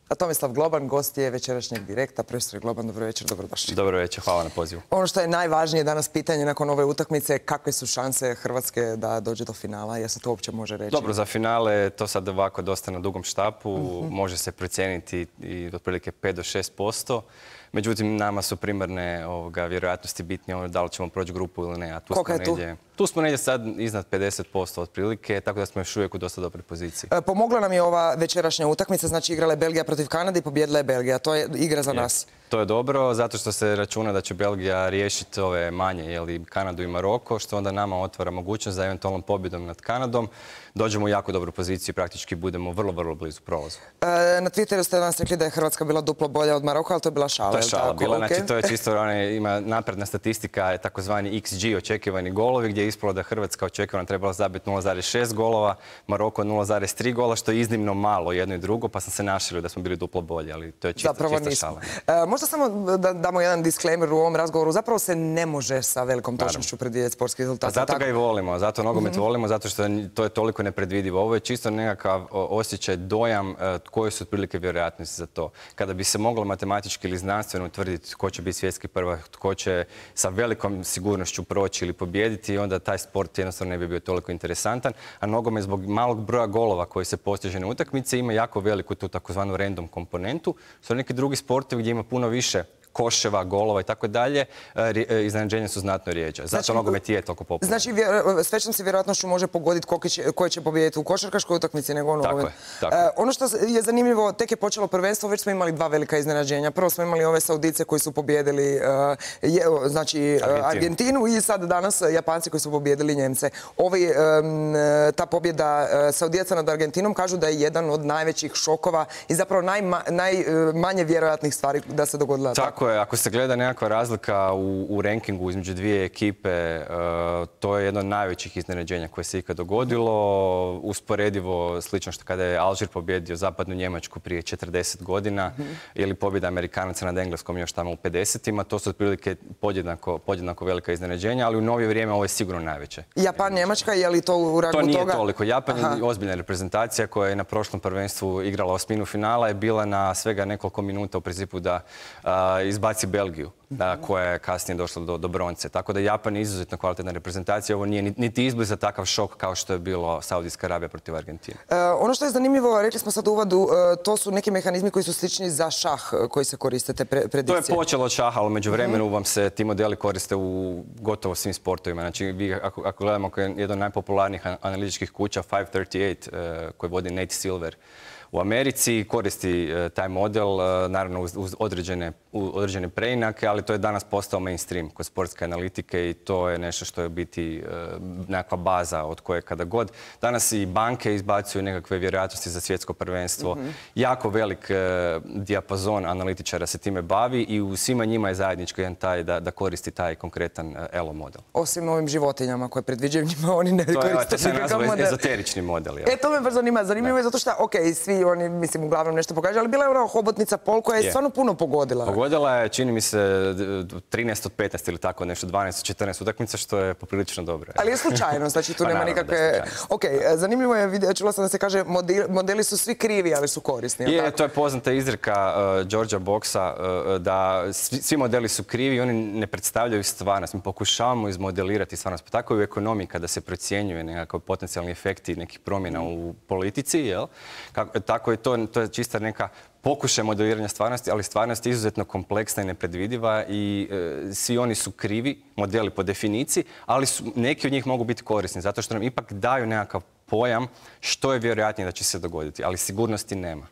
A Tomislav Globan, gost je večerašnjeg Direkta. Profesor Globan, dobro večer, dobrodošli. Dobro večer, hvala na pozivu. Ono što je najvažnije danas pitanje nakon ove utakmice, kakve su šanse Hrvatske da dođe do finala? Jel se to uopće može reći? Dobro, za finale to sad ovako dosta na dugom štapu. Može se procijeniti i otprilike 5 do 6%. Međutim, nama su primarne vjerojatnosti bitnije da li ćemo proći grupu ili ne. Koliko je tu? Tu smo negdje sad iznad 50% otprilike, tako da smo još uvijek u dosta dobroj poziciji. Pomogla nam je ova večerašnja utakmica, znači igrala je Belgija protiv Kanade i pobjedila je Belgija. To je igra za nas. To je dobro, zato što se računa da će Belgija riješiti ove manje, Kanadu i Maroko, što onda nama otvara mogućnost za eventualnom pobjedom nad Kanadom dođemo u jako dobru poziciju i praktički budemo vrlo, vrlo blizu prolazu. Na Twitteru ste danas rekli da je Hrvatska bila duplo bolja od Maroka, ali to je bila šala. To je šala bila, znači to je čisto, ima napredna statistika, takozvani XG, očekivani golovi, gdje je ispalo da Hrvatska očekivana trebala zabiti 0,6 golova, Maroko 0,3 gola, što je iznimno malo jedno i drugo, pa sam se našalio da smo bili duplo bolji, ali to je čista šala. Možda samo da damo jedan disclaimer u ovom razgovoru. Zapravo se ne može sa velikom točnošću predvidjeti sportski rezultat. Zato ga i volimo, zato nogomet volimo, zato što to je toliko nepredvidivo. Ovo je čisto nekakav osjećaj, dojam koje su otprilike vjerojatnosti za to. Kada bi se moglo matematički ili znanstveno utvrditi tko će biti svjetski prvak, tko će sa velikom sigurnošću proći ili pobijediti, onda taj sport jednostavno ne bi bio toliko interesantan. A nogomet zbog malog broja golova koji se postiže na utakmice ima jako veliku tu takozvanu random komponentu. Su neki drugi sportovi gdje ima puno više koševa, golova i tako dalje, iznenađenja su znatno rijeđa. Zato nogomet je toliko popularan. Znači, s većom se vjerojatnošću može pogoditi koji će pobijediti u košarkaškoj utakmici nego u nogometu. Tako je. Ono što je zanimljivo, tek je počelo prvenstvo, već smo imali dva velika iznenađenja. Prvo smo imali ove Saudice koji su pobijedili Argentinu i sad danas Japanci koji su pobijedili Njemce. Ta pobjeda Saudijaca nad Argentinom kažu da je jedan od najvećih šokova i zapravo najmanje vjerojatnih stvari da se dogodila. Tako je, ako se gleda nekakva razlika u rankingu između dvije ekipe, to je jedno od najvećih iznenađenja koje se ikad dogodilo. Usporedivo slično što kada je Alžir pobjedio zapadnu Njemačku prije 40 godina ili pobjeda Amerikanaca nad Engleskom još tamo u 50-ima. To su otprilike podjednako velika iznenađenja, ali u novije vrijeme ovo je sigurno najveće. Japan, Njemačka, je li to u rangu toga? To nije toliko. Japan je ozbiljna reprezentacija koja je na prošlom prvenstvu igrala osminu finala, je bila na svega nekoliko minuta u principu da izbaci Belgiju, koja je kasnije došla do bronce. Tako da Japan je izuzetno kvalitetna reprezentacija. Ovo nije niti izbliza takav šok kao što je bilo Saudijska Arabija protiv Argentine. Ono što je zanimljivo, rekli smo sad u uvodu, to su neki mehanizmi koji su slični za šah koji se koriste, te predikcije. To je počelo od šaha, ali među vremenu vam se ti modeli koriste u gotovo svim sportovima. Znači, ako gledamo jedan od najpopularnijih analitičkih kuća, 538, koji vodi Nate Silver, u Americi koristi taj model, naravno uz određene preinake, ali to je danas postao mainstream kod sportske analitike i to je nešto što je biti nekakva baza od koje kada god. Danas i banke izbacuju nekakve vjerojatnosti za svjetsko prvenstvo. Jako velik dijapazon analitičara se time bavi i u svima njima je zajedničko jedan taj da koristi taj konkretan ELO model. Osim ovim životinjama koje predviđaju njima, oni ne koriste. To se nazva ezoterični model. To me baš zanima. Zanimljivo je zato što, svi oni, mislim, uglavnom nešto pokažu, ali bila je ona hobotnica Pol koja je stvarno puno pogodila. Pogodila je, čini mi se, 13 od 15 ili tako nešto, 12 od 14 utakmica, što je poprilično dobro. Ali je slučajno, znači tu nema nikakve... Zanimljivo je, čula sam da se kaže, modeli su svi krivi, ali su korisni. To je poznata izreka Georgea Boxa, da svi modeli su krivi i oni ne predstavljaju stvarnost. Mi pokušavamo izmodelirati stvarnost. Pa tako i u ekonomiji kada se procjenjuje nekakav potencijalni efekti nekih promjena u politici, tako je to je čista neka pokušaj modeliranja stvarnosti, ali stvarnost je izuzetno kompleksna i nepredvidiva i svi oni su krivi, modeli po definiciji, ali neki od njih mogu biti korisni, zato što nam ipak daju nekakav pojam što je vjerojatnije da će se dogoditi, ali sigurnosti nema.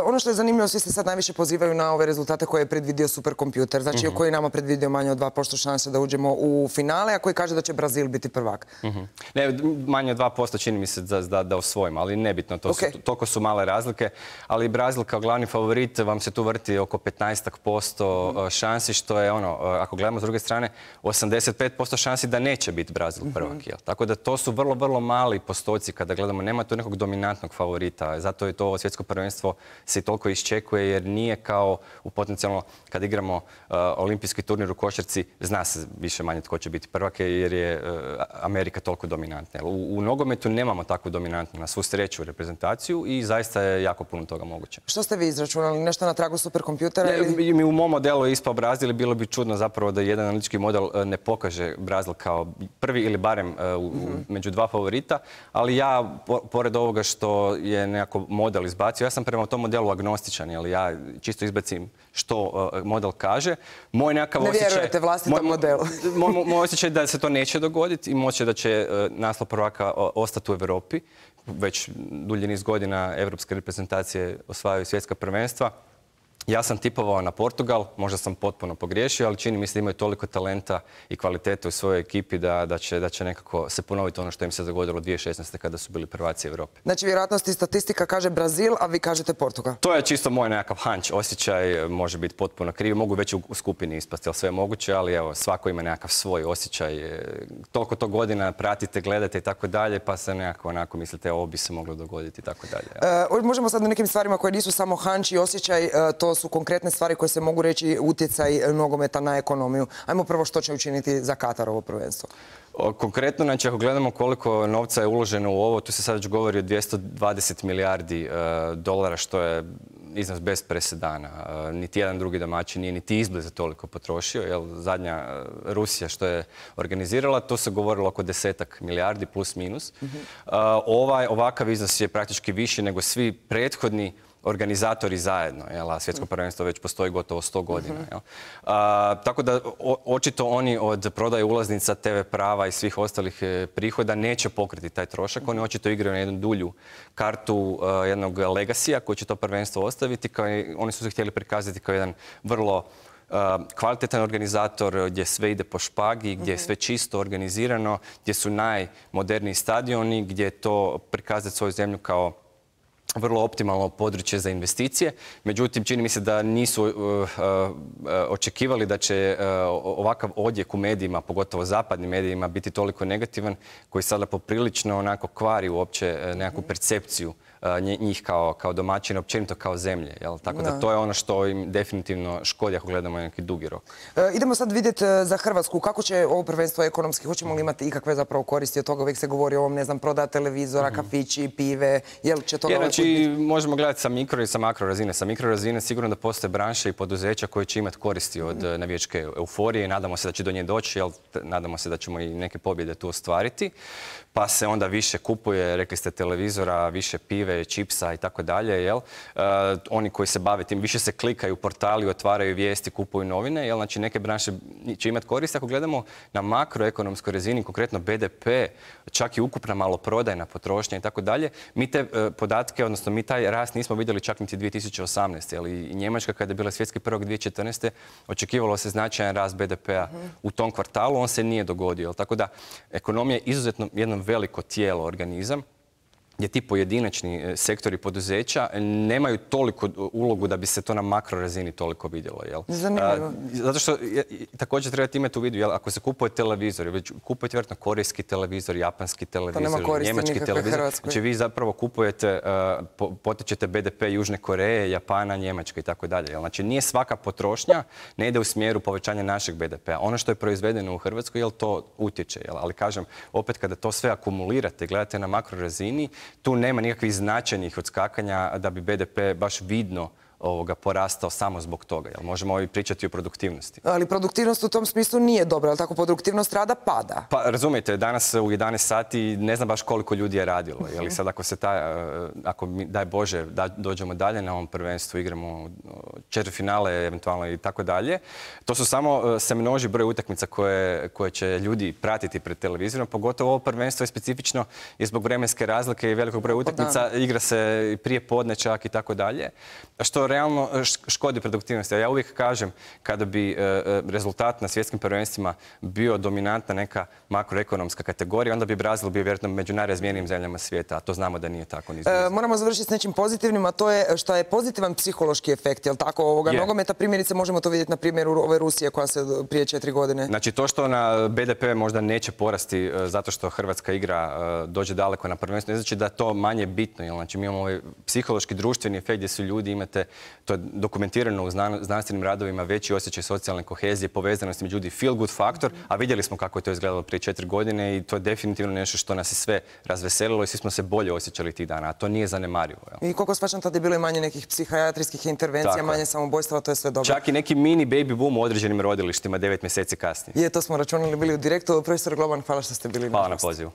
Ono što je zanimljivo, svi se sad najviše pozivaju na ove rezultate koje je predvidio superkompjuter, znači koji je nama predvidio manje od 2% šanse da uđemo u finale, a koji kaže da će Brazil biti prvak. Ne, manje od 2% čini mi se da osvojimo, ali nebitno, toliko su male razlike, ali Brazil kao glavni favorit vam se tu vrti oko 15% šansi, što je ako gledamo s druge strane, 85% šansi da neće biti Brazil prvak. Tako da to su vrlo, vrlo mali postoci kada gledamo, nema tu nekog dominantnog favorita. Zato je to svjetsko prvenstvo se toliko iščekuje jer nije kao u potencijalno kad igramo olimpijski turnir u košarci, zna se više manje tko će biti prvak jer je Amerika toliko dominantna. U nogometu nemamo takvu dominantnu, na svu sreću, reprezentaciju i zaista je jako puno toga moguće. Što ste vi izračunali? Nešto na tragu superkompjutera? Mi u mom modelu je ispao Brazil i bilo bi čudno zapravo da jedan analitički model ne pokaže Brazil kao prvi ili barem među dva favorita, ali ja, pored ovoga što je nekako model izbacio, ja sam prema tom modelu agnostičan, ali ja čisto izbacim što model kaže. Moj nekakav ne osjećaj... vjerujete vlastitom modelu. Moj osjećaj da se to neće dogoditi i moće da će naslov prvaka ostati u Europi. Već dulji niz godina evropske reprezentacije osvajaju svjetska prvenstva. Ja sam tipovao na Portugal, možda sam potpuno pogriješio, ali čini mi se da imaju toliko talenta i kvalitete u svojoj ekipi da će nekako se ponoviti ono što im se dogodilo 2016. kada su bili prvaci Europe. Znači, vjerojatnost i statistika kaže Brazil, a vi kažete Portugal. To je čisto moj nekakav hunch, osjećaj, može biti potpuno krivi. Mogu već u skupini ispasti, ali sve je moguće, ali evo, svako ima nekakav svoj osjećaj. Toliko to godina pratite, gledate i tako dalje, pa se nekako onako mislite ovo bi se moglo dogoditi i tako dalje. Možemo sad o nekim stvarima koje nisu samo hunch i osjećaj, to su konkretne stvari koje se mogu reći utjecaj nogometa na ekonomiju. Ajmo prvo što će učiniti za Katar ovo prvenstvo. Konkretno, znači ako gledamo koliko novca je uloženo u ovo, tu se sad već govori o 220 milijardi dolara, što je iznos bez presedana. Niti jedan drugi domaćin nije niti izbliza toliko potrošio. Jer zadnja Rusija što je organizirala, to se govorilo oko 10 milijardi plus minus. Ovakav iznos je praktički viši nego svi prethodni organizatori zajedno, a svjetsko prvenstvo već postoji gotovo 100 godina. Tako da očito oni od prodaje ulaznica, TV prava i svih ostalih prihoda neće pokriti taj trošak. Oni očito igraju na jednu dulju kartu jednog legacija koji će to prvenstvo ostaviti. Oni su se htjeli prikazati kao jedan vrlo kvalitetan organizator gdje sve ide po špagi, gdje je sve čisto organizirano, gdje su najmoderniji stadioni, gdje je to prikazati svoju zemlju kao vrlo optimalno područje za investicije. Međutim, čini mi se da nisu očekivali da će ovakav odjek u medijima, pogotovo zapadnim medijima, biti toliko negativan, koji sada poprilično onako kvari uopće nekakvu percepciju njih kao domaćina, općenito kao zemlje. Tako da to je ono što im definitivno škodi ako gledamo neki dugi rok. Idemo sad vidjeti za Hrvatsku kako će ovo prvenstvo ekonomski, hoćemo li imati ikakve zapravo koristi od toga, uvijek se govori o ovom, ne znam, prodaja televizora, kafići, pive, jel će toga... Znači, možemo gledati sa mikro i sa makro razine. Sa mikro razine sigurno da postoje branše i poduzeća koje će imati koristi od navijačke euforije. Nadamo se da će do nje doći, nadamo se da ćemo i neke pobjede tu ostvariti. Pa se onda više kupuje, rekli ste, televizora, više pive, čipsa i tako dalje. Oni koji se bave tim, više se klikaju portali, otvaraju vijesti, kupuju novine. Znači, neke branše će imati koristi. Ako gledamo na makroekonomskoj razini, konkretno BDP, čak i ukupna maloprodajna potrošnja i tako dalje, mi te podatke, odnosno mi taj rast nismo vidjeli čak niti 2018. Ali i Njemačka, kada je bila svjetski prvak 2014. očekivalo se značajan rast BDP-a u tom kvartalu, on se nije dogodio. Tako da ekonomija je izuzetno jedno veliko tijelo, organizam, gdje ti pojedinačni sektori poduzeća nemaju toliko ulogu da bi se to na makro razini toliko vidjelo. Zanimljivo. Zato što također trebate imati u vidu, ako se kupuje televizor, već kupujete vjerojatno korejski televizor, japanski televizor, njemački televizor, znači vi zapravo kupujete, potičete BDP Južne Koreje, Japana, Njemačke i tako dalje. Znači nije svaka potrošnja, ne ide u smjeru povećanja našeg BDP-a. Ono što je proizvedeno u Hrvatskoj, to utječe. Ali kažem, opet kada to sve akumulirate, gledate na makro razini, tu nema nikakvih značajnih odskakanja da bi BDP baš vidno porastao samo zbog toga. Možemo i pričati o produktivnosti. Ali produktivnost u tom smislu nije dobra, ali tako produktivnost rada pada. Pa razumijete, danas u 11 sati ne znam baš koliko ljudi je radilo. Sad ako daj Bože dođemo dalje na ovom prvenstvu, igramo četvrtfinale eventualno i tako dalje, to su samo se množi broj utakmica koje će ljudi pratiti pred televizorom, pogotovo ovo prvenstvo je specifično i zbog vremenske razlike i velikog broja utakmica, igra se prije podne čak i tako dalje. Što što realno škodi produktivnosti. A ja uvijek kažem, kada bi rezultat na svjetskim prvenstvima bio dominantna neka makroekonomska kategorija, onda bi Brazil bio vjerojatno među najrazvijenijim zemljama svijeta, a to znamo da nije tako ni izbliza. Moramo završiti s nečim pozitivnim, a to je što je pozitivan psihološki efekt, jel tako, ovoga nogometa. Primjerice možemo to vidjeti na primjeru ove Rusije koja se prije 4 godine. Znači to što na BDP možda neće porasti zato što Hrvatska igra dođe daleko na prvenstvo, ne znači da je to manje bitno. Jel? Znači mi imamo ovaj psihološki društveni efekt gdje su ljudi, imate, to je dokumentirano u znanstvenim radovima, veći osjećaj socijalne kohezije, povezanosti među ljudi, feel good faktor, a vidjeli smo kako je to izgledalo prije 4 godine i to je definitivno nešto što nas je sve razveselilo i svi smo se bolje osjećali tih dana, a to nije zanemarivo. Jel? I koliko shvaćam, tada je bilo i manje nekih psihijatrijskih intervencija, manje samobojstava, to je sve dobro. Čak i neki mini baby boom u određenim rodilištima 9 mjeseci kasnije. To smo računali bili u direktu. Profesor Globan, hvala što ste bili. Hvala na pozivu.